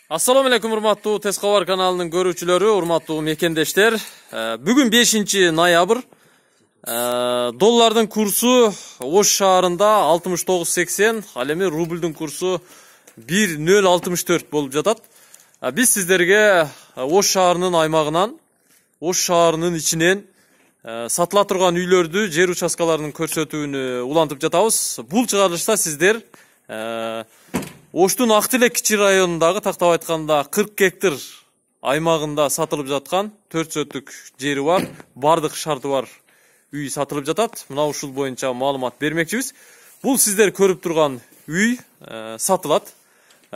Assalamu alaikum урматтуу Тез Кабар каналынын көрүүчүлөрү, урматтуу мекендештер. Бүгүн 5-ноябрь. Доллардын курсу Ош шаарында 69.80, ал эми рублдун курсу 1.064 болуп жатат. Биз сиздерге Ош шаарынын аймагынан, Ош шаарынын ичинен сатыла турган үйлөрдү, жер участкаларынын көрсөтүүнү улантып жатабыз. Бул чыгарылышта сиздер Оштун Актилек кичи районундагы, тактап айтканда 40 гектар аймагында сатылып жаткан 4 сөттүк жери бар, бардык шарты бар үй сатылып жатат. Мына ушул боюнча маалымат бермекчибиз. Бул сиздер көрүп турган үй сатылат.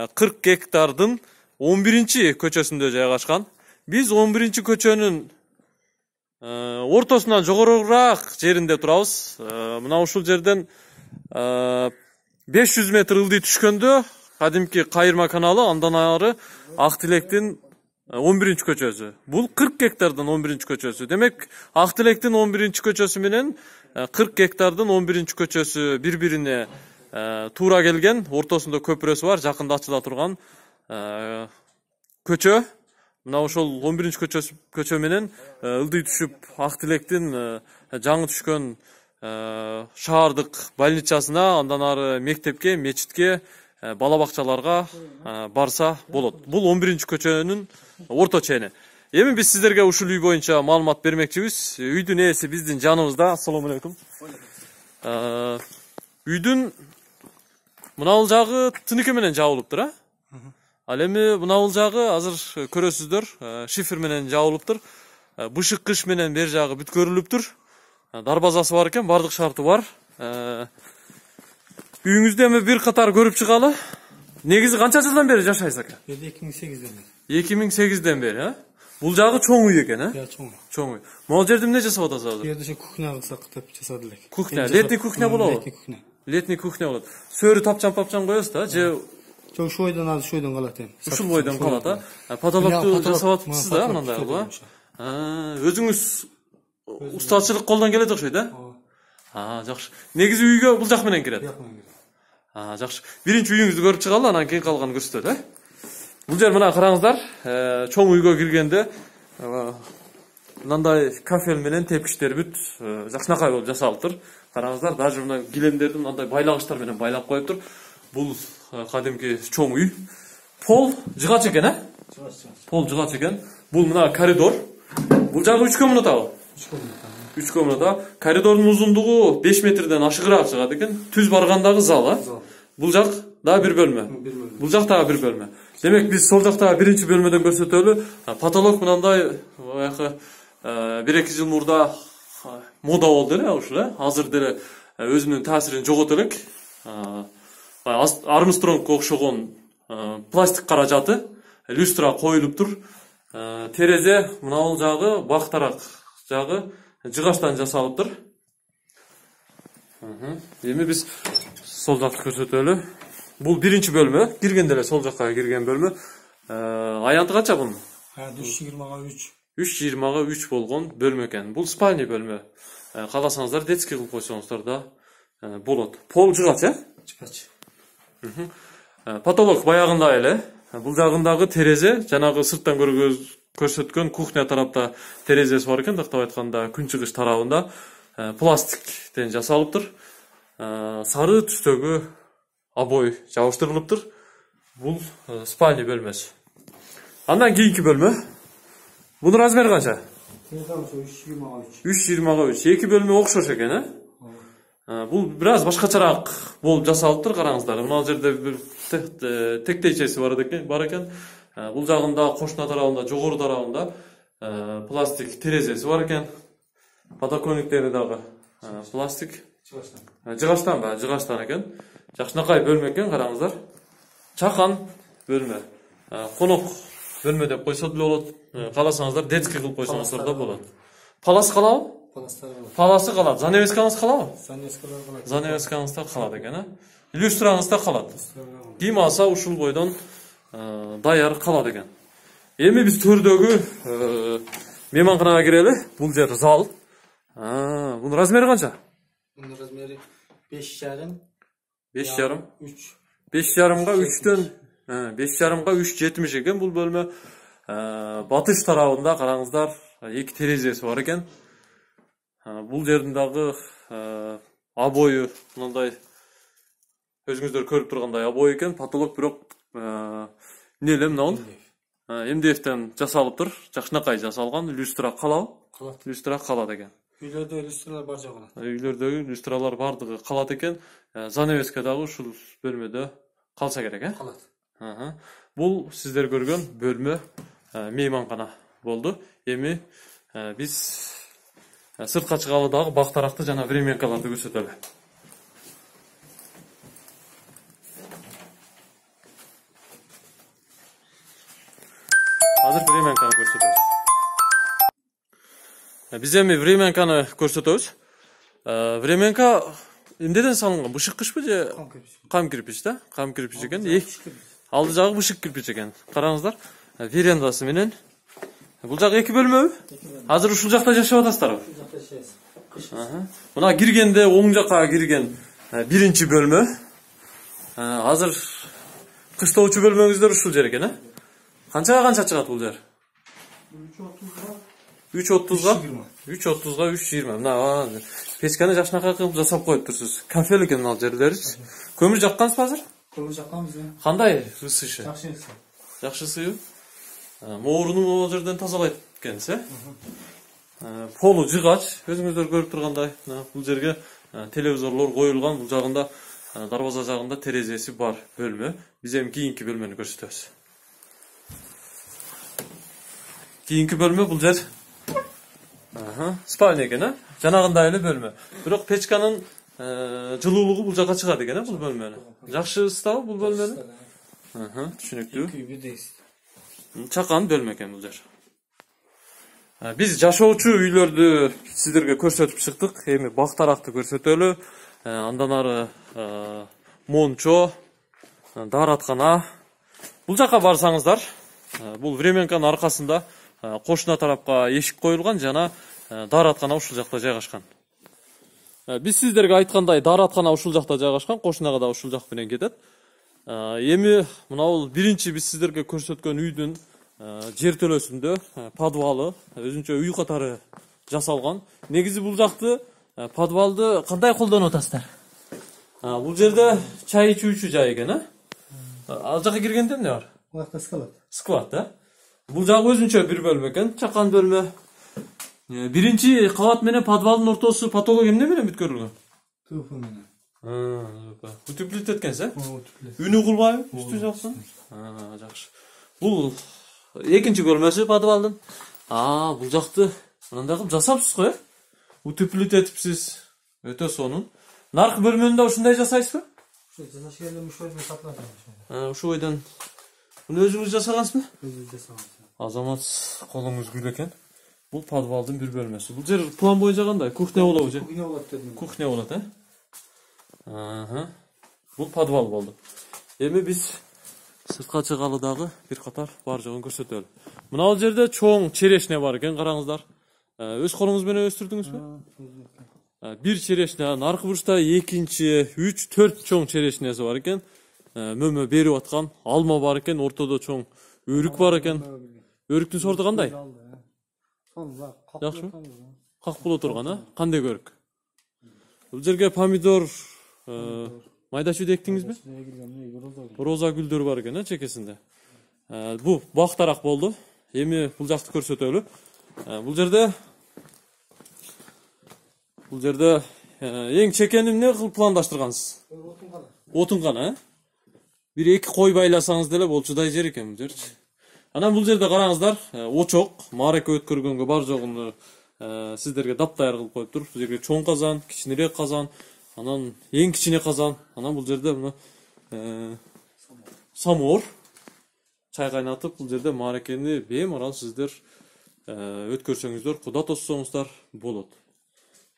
40 гектардын 11-көчөсүндө жайгашкан. Биз 11-көчөнүн ортосунан жогорураак жеринде турабыз. Мына ушул жерден 500 метр ылдый түшкөндө кадимки Кайырма каналы, андан ары Актилектин 11-көчөсү. Бул 40 гектардын 11-көчөсү. Демек, Актилектин 11-көчөсү менен 40 гектардын 11-көчөсү бири-бирине туура келген, ортосунда көпүрөсү бар, жакында ачыла турган көчө. Мына ошол 11-көчө менен ылдый түшүп Актилектин жаңы түшкөн шаардык больницасына, андан ары мектепке, мечитке, бала бакчаларга барса болот. Бул 11-көчөнүн орто чени. Эми биз сиздерге ушул үй боюнча маалымат бермекчибиз. Үйдүн ээси биздин жаныбызда. Ассаламу алейкум. Үйдүн мынабул жагы тыныке менен жабылыптыр, Ал эми мынабул жагы азыр көрөсүздөр, шифер менен жабылыптыр. Бышык кыш менен бер жагы бүткөрүлүптүр. Дарбазасы бар экен, бардык шарты бар. Үйүңүздө эми бир катар көрүп чыгалы. Негизи канча жылдан бери жашайсыз ака? 2008ден бери. 2008ден бери, Бул жагы чоң үй экен, Чоң үй. Могул жерде эмне жасап атасыз азыр? Бу жерде кухня кылсак деп жасады элек. Кухня, летний кухня болобу? Летний кухня. Летний кухня болот. Сөрү тапчан коесуз да, же Жок, ушул бойдон азыр ушул бойдон калат эми. Ушул бойдон калат, Потолокту жасап атыпсыз да, мындайгы. Өзүңүз устачылык колдон келет окшойт, Жакшы. Негизи үйгө бул жак менен кирет. Жакшы. Биринчи үйүңүздү көрүп чыгалы, анан кийин калганын көрсөтөт, Бул жер мына караңыздар, чоң үйгө киргенде мындай кафель менен тепкичтер бүт жакшынакай болуп жасалыптыр. Караңыздар, даже мына килемдерди мындай байлагычтар менен байлап коюптур. Бул кадимки чоң үй. Пол жыгач экен, Пол жыгач экен. Бул мына коридор. Бул жагы 3 комнатабы? 3 комната. Коридордун узундугу 5 метрден ашыгыраак чыгат экен. Түз баргандагы зал, Бул жак дагы бир бөлмө. Бул жак дагы бир бөлмө. Демек, биз сол жактагы биринчи бөлмөдөн көрсөтөлү. Потолок мындай 1-2 жыл мурда мода болду ушул, Азыр деле өзүнүн таасирин жогот элек. Армстронгко окшогон пластик каражаты, люстра коюлуптур. Терезе мынабул жагы бактарак жагы жыгачтан жасалыптыр. Эми биз сол жакты көрсөтөлү. Бул биринчи бөлмө, киргенде эле сол жакка кирген бөлмө. Аянты канча бунун? 3.20-3. 3.20-3 болгон бөлмө экен. Бул спальный бөлмө. Кааласаңыздар детский кылып койсоңуздар да болот. Пол жыгач, Жыгач. Потолок баягындай эле. Бул жагындагы терезе, жанагы сырттан көрсөткөн кухня тарапта терезеси бар экен, тактап айтканда күн чыгыш тарабында пластиктен жасалыптыр. Сары түстөгү обой жабыштырылыптыр. Бул спальный бөлмөсү. Андан кийинки бөлмө. Бунун размери канча? 3.20-3. 3.20-3. Эки бөлмө окшош экен, Бул бир аз башкачараак болуп жасалыптыр, караңыздар. Мына жерде бир тектейчеси бар экен. Бул жагында кошуна тарабында, жогору тарабында пластик терезеси бар экен. Подоконниктери дагы пластик. Жыгачтан экен. Жакшынакай бөлмө экен, караңыздар. Чакан бөлмө. Конок бөлмө деп койсо деле болот. Кааласаңыздар детский кылып койсоңуздар да болот. Палас калабы? Паласы калат. Занавескаңыз калабы? Занавескаңыз да калат экен, Люстраңыз да калат. Ким алса ушул бойдон даяр калат экен. Эми биз төрдөгү мейманканага кирели. Бул жер зал. Бунун размери канча? Бунун размери 5.5. 5.5. 3. 5.5-га 3төн 5,5 3,70 экен бул бөлмө. Батыш тарабында караңыздар, эки терезеси бар экен. Бул жердин дагы обою мындай өзүңүздөр көрүп тургандай обой экен. Потолок бирок эмне эле мынабу МДФтен жасалыптыр. Жакшынакай жасалган, люстра калабы? Калат. Люстра калат экен. Үйлөрдө люстралар бар жок калат. Үйлөрдөгү люстралар бардыгы калат экен. Занавеска дагы ушул бөлмөдө калса керек, Калат. Бул сиздер көргөн бөлмө мейманкана болду. Эми биз сыртка чыгалы дагы бактаракты жана временкаларды көрсөтөлү. Азыр временканы көрсөтөбүз. Биз эми временканы көрсөтөбүз. Временка эмнеден салынган? Бышык кышпы же кам кирпич да? Кам кирпич экен. Алды жагы бышык кирпич экен. Караңыздар, верандасы менен. Бул жагы эки бөлмөбү? Азыр ушул жакта жашап атасыздарбы? Ушул жакта жашайбыз. Мына киргенде оң жакка кирген биринчи бөлмө. Азыр кыштоочу бөлмөңүздөр ушул жер экен, Канчага чыгат бул жер? 3.30га 3.20. Мына печканы жакшынакай кылып жасап коюптурсуз. Кафе экен мына жерлеричи. Көмүр жаккансызбы азыр? Көмүр жакканбыз. Кандай ысышы? Жакшы ысы. Жакшы ысыбы? Мооруну могул жерден тазалайт экенсиз, Полу жыгач, өзүңүздөр көрүп тургандай, бул жерге телевизорлор коюлган, бул жагында дарбаза жагында терезеси бар бөлмө. Биз эми кийинки бөлмөнү көрсөтөбүз. Кийинки бөлмө бул жер спальня экен, Жанагындай эле бөлмө. Бирок печканын жылуулугу бул жака чыгат экен, бул бөлмөнү. Жакшы ысытабы бул бөлмөнү? Түшүнүктүү. Чакан бөлмө экен бул жер. Биз жашоочу үйлөрдү сиздерге көрсөтүп чыктык. Эми бактаракты көрсөтөлү. Андан ары мончо, даараткана. Бул жака барсаңыздар, бул временканын аркасында кошуна тарапка эшик коюлган жана даараткана ушул жакта жайгашкан. Биз сиздерге айткандай даараткана ушул жакта жайгашкан, кошунага да ушул жак менен кетет. Эми мына бул биринчи биз сиздерге көрсөткөн үйдүн жертөлөсүндө подвалы, өзүнчө үй катары жасалган. Негизи бул жакты подвалды кандай колдонуп атасыздар? Бул жерде чай ичүүчү жай экен, Ал жака киргенде эмне бар? Бул жакта склад. Склад, Бул жагы өзүнчө бир бөлмө экен, чакан бөлмө. Биринчи кабат менен подвалдын ортосу потолок эмне менен бүткөрүлгөн? ТФ менен. Утеплит эткенсиз, Үнү кулбайбы үстү жаксын? Жакшы. Бул экинчи бөлмөсү подвалдын. Бул жакты мындай кылып жасапсыз го, Утеплит этипсиз. Өтө сонун. Наркы бөлмөнү да ушундай жасайсызбы? Ушул жасаш келдим, ушул жерде сатылат. Ушул бойдон муну өзүңүз жасагансызбы? Өзүбүз жасаган. Азамат, колуңуз гүл экен. Бул подвалдын бир бөлмөсү. Бул жер план боюнча кандай? Кухня болобу же? Кухня болот дедим. Кухня болот, Бул подвал болду. Эми биз сыртка чыгалы дагы бир катар бар жогун көрсөтөлү. Мына бул жерде чоң черешне бар экен, караңыздар. Өз колуңуз менен өстүрдүңүзбү? Бир черешне, наркы бурчта экинчи, 3, 4 чоң черешнеси бар экен. Мөмө берип аткан, алма бар экен, ортодо чоң өрүк бар экен. Өрүктүн сорту кандай? Жакшыбы? Как боло турган, Кандай өрүк? Бул жерге помидор, майда чүйдө эктиңизби? Роза гүлдөр бар экен, чекесинде. Бул бактарак болду. Эми бул жакты көрсөтөлү. Бул жерде эң чекени эмне кылып пландаштыргансыз? Отун гана, Бир эки кой байласаңыз деле болчудай жер экен бул жерчи. Анан бул жерде караңыздар, очок, маараке өткөргөнгө бар жогун сиздерге дапдаяр кылып коюптур. Бул жерге чоң казан, кичинерээк казан, анан эң кичине казан, анан бул жерде мына самовар чай кайнатып, бул жерде мааракени беймарал сиздер өткөрсөңүздөр, куда тоссоңуздар болот.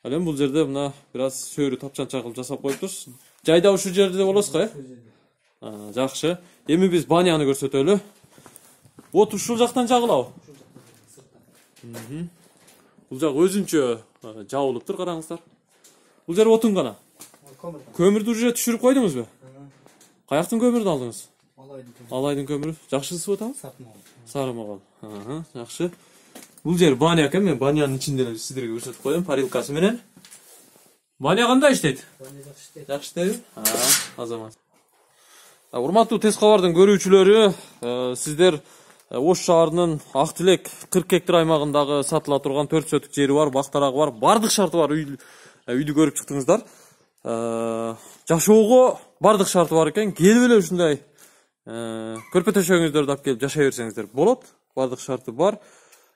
Ал эми бул жерде мына бир аз сөөрү тапчанча кылып жасап коюптур. Жайда ушул жерде болосузго, Жакшы. Эми биз баняны көрсөтөлү. Вот ушул жактан жагылабы? Бул жак өзүнчө жабылыптыр, караңыздар. Бул жер отун гана. Көмүрдү уже түшүрүп койдуңузбу? Каяктын көмүрүн алдыңыз? Алайдын көмүрү. Жакшы ысып атабы? Сары могол. Жакшы. Бул жер баня экен, мен банянын ичинде эле сиздерге көрсөтүп коем, парилкасы менен. Баня кандай иштейт? Жакшы иштейби? Азамат. Урматтуу Тез кабардын көрүүчүлөрү, сиздер Ош шаарынын Ак Тилек 40 гектар аймагындагы сатыла турган 4 соток жери бар, бактарагы бар, бардык шарты бар үйдү көрүп чыктыңыздар. Жашоого бардык шарты бар экен. Келип эле ушундай көрпө төшөгүңүздөрдү алып келип жашай берсеңиздер болот. Бардык шарты бар.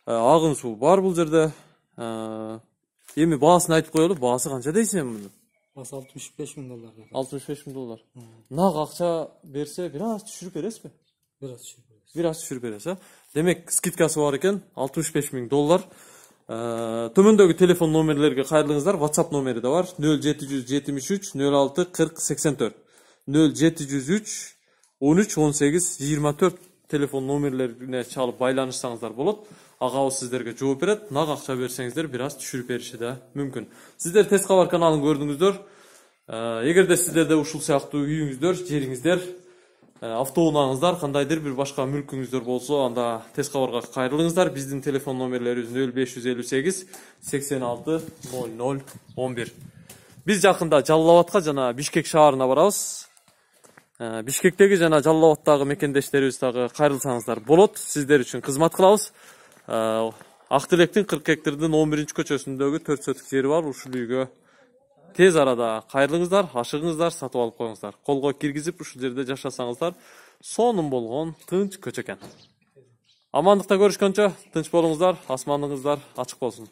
Агын суу бар бул жерде. Эми баасын айтып коелу. Баасы канча дейсиң муну? Баасы $65,000. $65,000. Нак акча берсе, бир аз түшүрүп бересизби? Бир аз түшүрүп бересиз, Демек, скидкасы бар экен, $65,000. Төмөндөгү телефон номерлерге кайрылыңыздар. WhatsApp номери да бар. 0773 06 40 84. 0703 13 18 24 телефон номерлерине чалып байланышсаңыздар болот. Агабыз сиздерге жооп берет. Нак акча берсеңиздер, бир аз түшүрүп бериши да мүмкүн. Сиздер Тез кабар каналын көрдүңүздөр. Эгерде сиздерде ушул сыяктуу үйүңүздөр, жериңиздер, автоунааңыздар, кандайдыр бир башка мүлкүңүздөр болсо, анда Тез кабарга кайрылыңыздар. Биздин телефон номерлерибиз 0558 86 00 11. Биз жакында Жалал Абадка жана Бишкек шаарына барабыз. Бишкектеги жана Жалал Абадтагы мекендештерибиз дагы кайрылсаңыздар болот. Сиздер үчүн кызмат кылабыз. Ак Тилектин 40 гектардын 11-көчөсүндөгү 4 соток жери бар. Ушул үйгө тез арада кайрылыңыздар, ашыгыңыздар, сатып алып коюңуздар. Колго киргизип ушул жерде жашасаңыздар, сонун болгон тынч көчө экен. Амандыкта көрүшкөнчө тынч болуңуздар, асманыңыздар ачык болсун.